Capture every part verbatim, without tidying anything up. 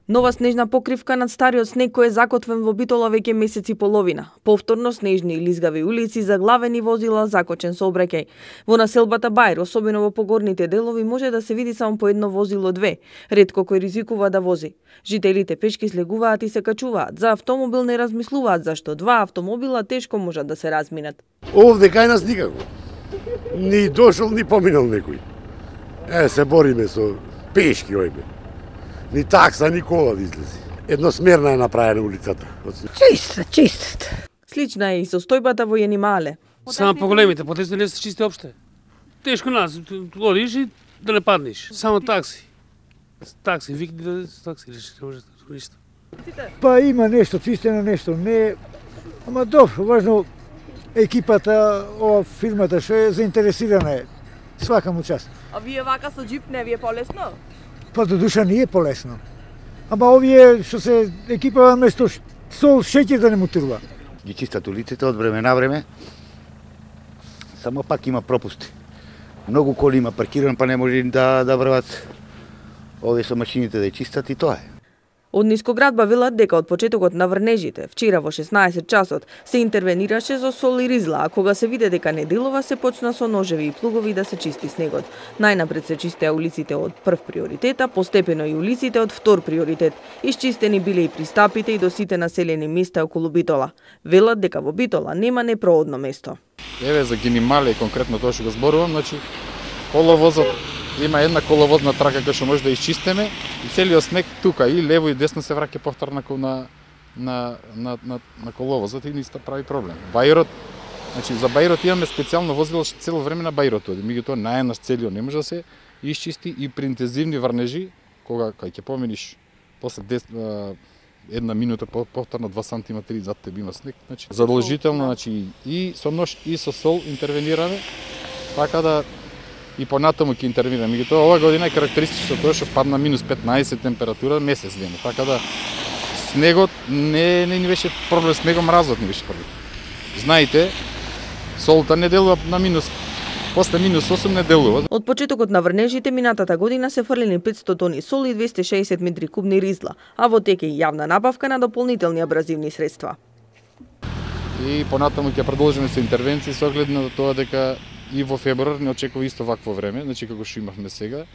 Нова снежна покривка над стариот снег кој е закотвен во Битола веќе месец и половина. Повторно снежни и лизгави улици, заглавени возила, закочен сообраќај. Во населбата Бајр, особено во погорните делови, може да се види само по едно возило две, ретко кој ризикува да вози. Жителите пешки слегуваат и се качуваат. За автомобил не размислуваат, зашто два автомобила тешко можат да се разминат. Овде кај нас никако. Ни дошол, ни поминал некој. Е, се бориме со пешки ојме. Ни такса, ни кола да излези. Едносмерна е направена улицата. Чиста, чиста. Слична е и состојбата во Јанимале. Само поголемите потесни не се чисти опште. Тешко нас, одиш и да не паднеш. Само такси. Такси, викни да такси реши, не може да ништо. Па има нешто чистено, нешто не. Ама добро, важно екипата, ова фирмата што е заинтересирана е. Свака му част. А вие вака со джип не ви е полесно? Па до душа не е полесно. Ама овие што се екипа место сол, шеќер да не му трува. Ги чистат улиците од време на време. Само пак има пропусти. Многу коли има паркиран, па не може да да врват овие со машините да ја чистат и тоа е. Од Нискоградба велат дека од почетокот на врнежите, вчера во шеснаесет часот, се интервенираше со сол и ризла, а кога се виде дека не делува, се почна со ножеви и плугови да се чисти снегот. Најнапред се чистеа улиците од прв приоритет, а постепено и улиците од втор приоритет. Исчистени биле и пристапите и до сите населени места околу Битола. Велат дека во Битола нема непроодно место. Еве за Јанимале конкретно тоа што го зборувам, значи коловозот има една коловозна трака која што може да исчистиме и целиот снег тука и лево и десно се враќа повторно на на на на, на коловозот и нисто прави проблем. Бајрот, значи за Бајрот имаме специјално возило што цело време на Бајрот оди, меѓутоа најнаш целиот не може да се исчисти и при интензивни врнежи кога кај ќе поминиш после десет една минута повторно два сантиметри зад тебе има снег, значи задолжително, значи и со нож и со сол интервенираме така да и понатаму ќе интервенираме. Меѓутоа ова година е карактеристично тоа што падна минус петнаесет температура месец ден. Така да снегот не не ни беше проблем, снегот мразот не беше проблем. Знаете, солта не делува на минус, после минус осум не делува. Од почетокот на врнежите минатата година се фрлени петсто тони сол и двесте и шеесет метри кубни ризла, а во тек е јавна набавка на дополнителни абразивни средства. И понатаму ќе продолжиме со интервенции со оглед на тоа дека и во февруар не очекува исто вакво време, значи како што имавме сега.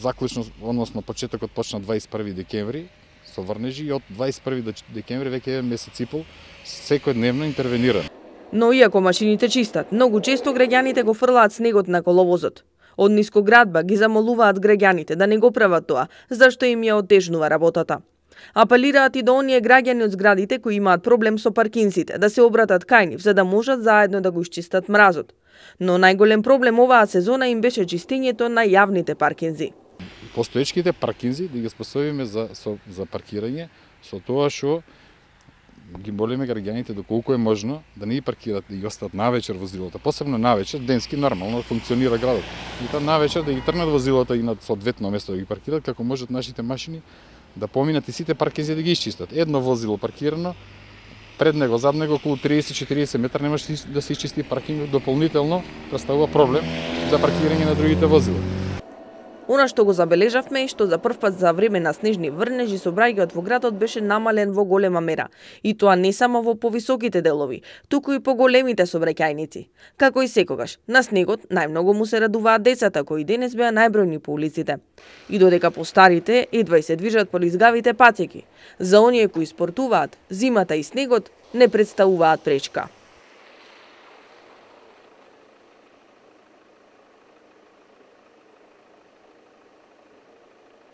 Заклучно, односно почетокот почна дваесет и први декември со врнежи и од дваесет и први декември веќе е месец и пол секојдневно интервенираме. Но иако машините чистат, многу често граѓаните го фрлаат снегот на коловозот. Од Нискоградба ги замолуваат граѓаните да не го прават тоа, зашто им ја отежнува работата. Апелираат и до оние граѓани од зградите кои имаат проблем со паркинзите да се обратат кај нив за да можат заедно да го исчистат мразот. Но најголем проблем оваа сезона им беше чистењето на јавните паркинзи. Постоечките паркинзи да ги способиме за со, за паркирање со тоа што ги молиме граѓаните доколку е можно да не ги паркират да ги остават навечер возилата, посебно навечер, денски нормално функционира градот. И тоа навечер да ги тргнат возилата и на соодветно место да ги паркират како можат нашите машини да поминат и сите паркинзи да ги исчистат. Едно возило паркирано, пред него, зад него околу триесет до четириесет метра не може да се исчисти паркингот дополнително, представува проблем за паркирање на другите возила. Она што го забележавме е што за прв пат за време на снежни врнежи сообраќајот во градот беше намален во голема мера. И тоа не само во повисоките делови, туку и по големите сообраќајници. Како и секогаш, на снегот најмногу му се радуваат децата кои денес беа најбројни по улиците. И додека постарите едва и се движат по лизгавите патеки, за оние кои спортуваат, зимата и снегот не представуваат пречка.